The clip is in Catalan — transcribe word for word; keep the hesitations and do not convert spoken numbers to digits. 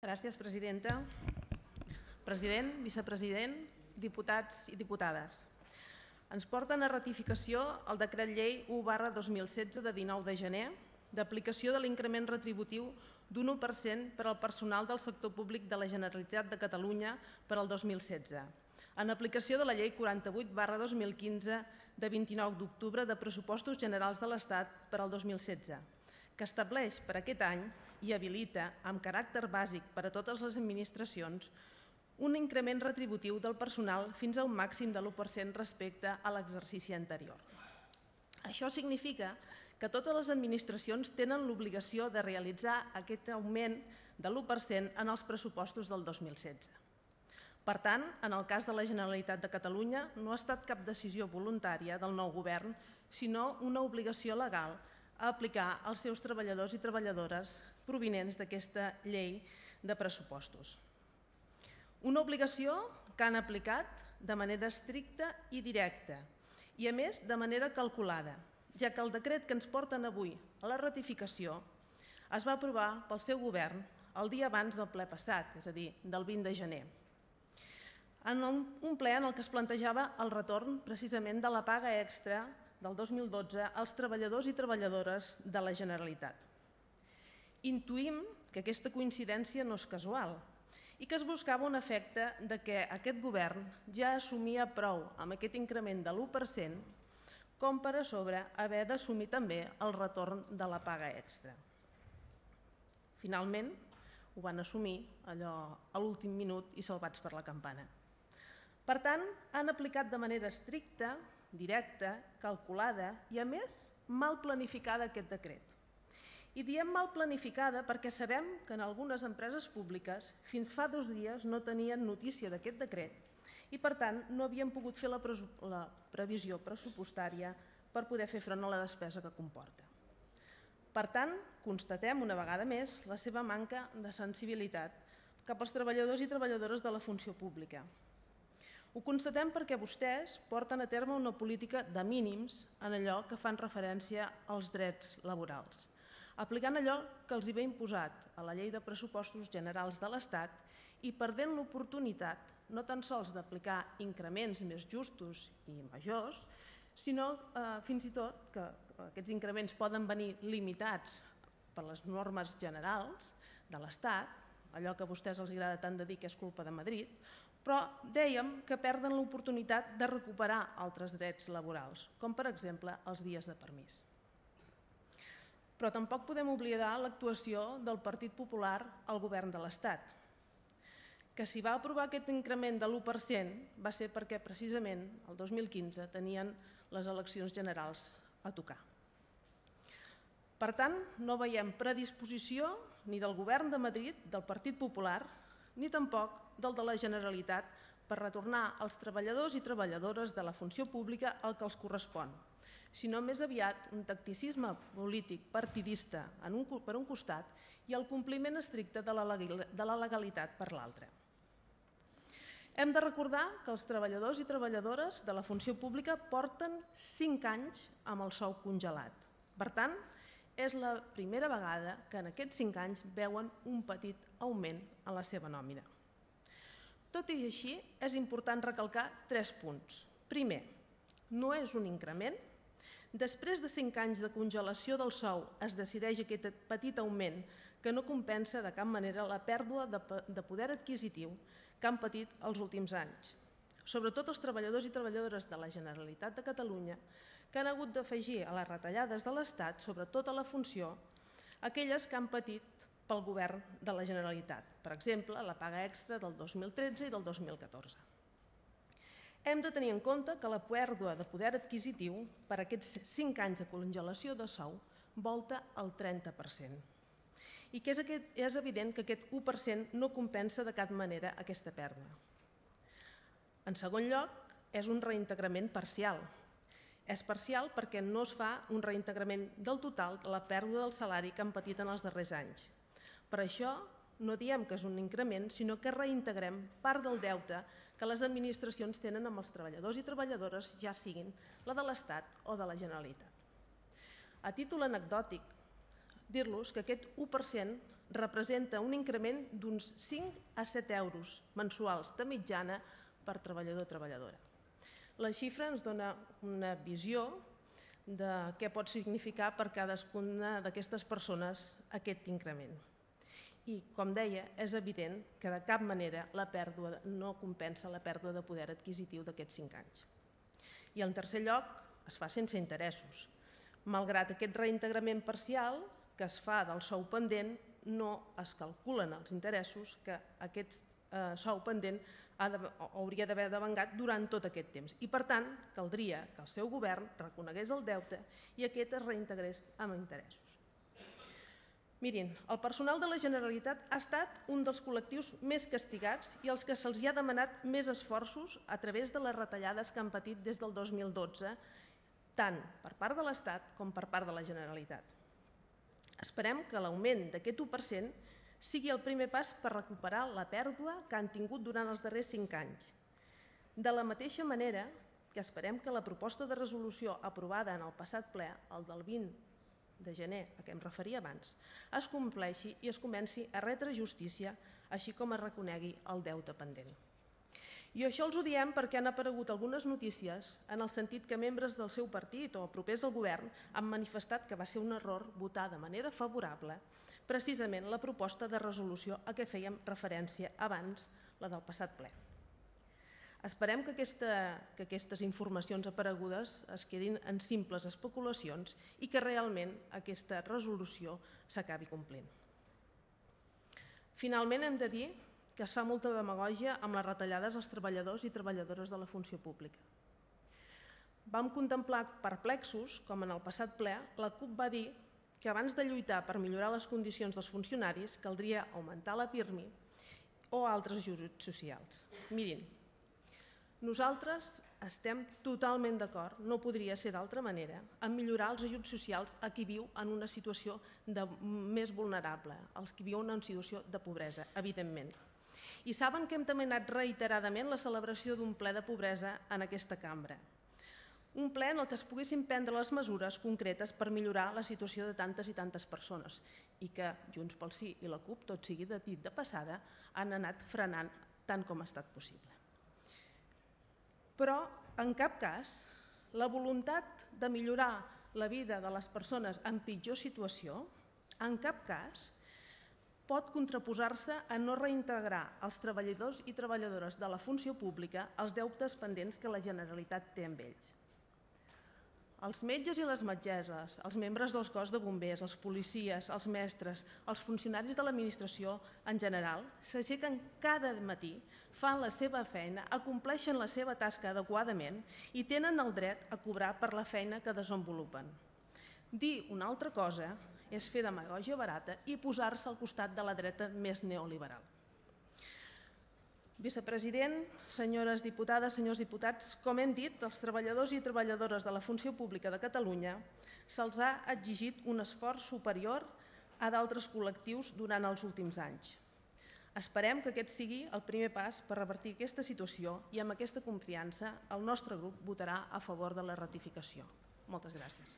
Gràcies, presidenta. President, vicepresident, diputats i diputades. Ens porten a ratificació el decret llei u barra dos mil setze de dinou de gener d'aplicació de l'increment retributiu d'un u per cent per al personal del sector públic de la Generalitat de Catalunya per al dos mil setze, en aplicació de la llei quaranta-vuit barra dos mil quinze de vint-i-nou d'octubre de pressupostos generals de l'Estat per al dos mil setze, que estableix per aquest any i habilita, amb caràcter bàsic per a totes les administracions, un increment retributiu del personal fins a un màxim de l'u per cent respecte a l'exercici anterior. Això significa que totes les administracions tenen l'obligació de realitzar aquest augment de l'u per cent en els pressupostos del dos mil setze. Per tant, en el cas de la Generalitat de Catalunya, no ha estat cap decisió voluntària del nou govern, sinó una obligació legal a aplicar als seus treballadors i treballadores provinents d'aquesta llei de pressupostos. Una obligació que han aplicat de manera estricta i directa i, a més, de manera calculada, ja que el decret que ens porten avui a la ratificació es va aprovar pel seu govern el dia abans del ple passat, és a dir, del vint de gener, en un ple en el que es plantejava el retorn precisament de la paga extra del dos mil dotze als treballadors i treballadores de la Generalitat. Intuïm que aquesta coincidència no és casual i que es buscava un efecte de que aquest govern ja assumia prou amb aquest increment de l'u per cent com per a sobre haver d'assumir també el retorn de la paga extra. Finalment, ho van assumir allò a l'últim minut i salvats per la campana. Per tant, han aplicat de manera estricta, directa, calculada i, a més, mal planificada aquest decret. I diem mal planificada perquè sabem que en algunes empreses públiques fins fa dos dies no tenien notícia d'aquest decret i, per tant, no havien pogut fer la previsió pressupostària per poder fer front a la despesa que comporta. Per tant, constatem una vegada més la seva manca de sensibilitat cap als treballadors i treballadores de la funció pública. Ho constatem perquè vostès porten a terme una política de mínims en allò que fan referència als drets laborals, aplicant allò que els hi ve imposat a la Llei de Pressupostos Generals de l'Estat i perdent l'oportunitat no tan sols d'aplicar increments més justos i majors, sinó fins i tot que aquests increments poden venir limitats per les normes generals de l'Estat, allò que a vostès els agrada tant de dir que és culpa de Madrid, però dèiem que perden l'oportunitat de recuperar altres drets laborals, com per exemple els dies de permís. Però tampoc podem oblidar l'actuació del Partit Popular al govern de l'Estat, que si va aprovar aquest increment de l'u per cent va ser perquè precisament el dos mil quinze tenien les eleccions generals a tocar. Per tant, no veiem predisposició ni del govern de Madrid, del Partit Popular, ni tampoc del de la Generalitat per retornar als treballadors i treballadores de la funció pública el que els correspon, sinó més aviat un tacticisme polític partidista per un costat i el compliment estricte de la legalitat per l'altre. Hem de recordar que els treballadors i treballadores de la funció pública porten cinc anys amb el sou congelat. Per tant, és la primera vegada que en aquests cinc anys veuen un petit augment en la seva nòmina. Tot i així, és important recalcar tres punts. Primer, no és un increment. Després de cinc anys de congelació del sou es decideix aquest petit augment que no compensa de cap manera la pèrdua de poder adquisitiu que han patit els últims anys. Sobretot els treballadors i treballadores de la Generalitat de Catalunya que han hagut d'afegir a les retallades de l'Estat, sobretot a la funció, aquelles que han patit pel govern de la Generalitat, per exemple, la paga extra del dos mil tretze i del dos mil catorze. Hem de tenir en compte que la pèrdua de poder adquisitiu per aquests cinc anys de congelació de sou volta el trenta per cent i que és evident que aquest u per cent no compensa de cap manera aquesta pèrdua. En segon lloc, és un reintegrament parcial. És parcial perquè no es fa un reintegrament del total de la pèrdua del salari que han patit en els darrers anys. Per això no diem que és un increment, sinó que reintegrem part del deute que les administracions tenen amb els treballadors i treballadores, ja siguin la de l'Estat o de la Generalitat. A títol anecdòtic, dir-los que aquest u per cent representa un increment d'uns cinc a set euros mensuals de mitjana per treballador o treballadora. La xifra ens dona una visió de què pot significar per cadascuna d'aquestes persones aquest increment. I, com deia, és evident que de cap manera la pèrdua no compensa la pèrdua de poder adquisitiu d'aquests cinc anys. I en tercer lloc, es fa sense interessos. Malgrat aquest reintegrament parcial que es fa del sou pendent, no es calculen els interessos que aquest sou pendent hauria d'haver devengat durant tot aquest temps. I, per tant, caldria que el seu govern reconegués el deute i aquest es reintegrés amb interessos. Mirin, el personal de la Generalitat ha estat un dels col·lectius més castigats i els que se'ls ha demanat més esforços a través de les retallades que han patit des del dos mil dotze, tant per part de l'Estat com per part de la Generalitat. Esperem que l'augment d'aquest u per cent sigui el primer pas per recuperar la pèrdua que han tingut durant els darrers cinc anys. De la mateixa manera que esperem que la proposta de resolució aprovada en el passat ple, el del vint de gener, a què em referia abans, es compleixi i es comenci a retre justícia, així com es reconegui el deute pendent. I això els ho diem perquè han aparegut algunes notícies en el sentit que membres del seu partit o propers al govern han manifestat que va ser un error votar de manera favorable precisament la proposta de resolució a què fèiem referència abans, la del passat ple. Esperem que aquestes informacions aparegudes es quedin en simples especulacions i que realment aquesta resolució s'acabi complint. Finalment, hem de dir que es fa molta demagògia amb les retallades als treballadors i treballadores de la funció pública. Vam contemplar perplexos, com en el passat ple, la CUP va dir que abans de lluitar per millorar les condicions dels funcionaris caldria augmentar la PIRMI o altres ajuts socials. Mirin, nosaltres estem totalment d'acord, no podria ser d'altra manera, en millorar els ajuts socials a qui viu en una situació més vulnerable, als qui viuen en situació de pobresa, evidentment. I saben que hem demanat reiteradament la celebració d'un ple de pobresa en aquesta cambra. Un ple en el que es poguessin prendre les mesures concretes per millorar la situació de tantes i tantes persones i que Junts pel Sí i la CUP, tot sigui dit de passada, han anat frenant tant com ha estat possible. Però, en cap cas, la voluntat de millorar la vida de les persones en pitjor situació, en cap cas, pot contraposar-se a no reintegrar els treballadors i treballadores de la funció pública els deutes pendents que la Generalitat té amb ells. Els metges i les metgesses, els membres del cos de bombers, els policies, els mestres, els funcionaris de l'administració en general, s'aixequen cada matí, fan la seva feina, acompleixen la seva tasca adequadament i tenen el dret a cobrar per la feina que desenvolupen. Dir una altra cosa és fer demagògia barata i posar-se al costat de la dreta més neoliberal. Vicepresident, senyores diputades, senyors diputats, com hem dit, als treballadors i treballadores de la funció pública de Catalunya se'ls ha exigit un esforç superior a d'altres col·lectius durant els últims anys. Esperem que aquest sigui el primer pas per revertir aquesta situació i amb aquesta confiança el nostre grup votarà a favor de la ratificació. Moltes gràcies.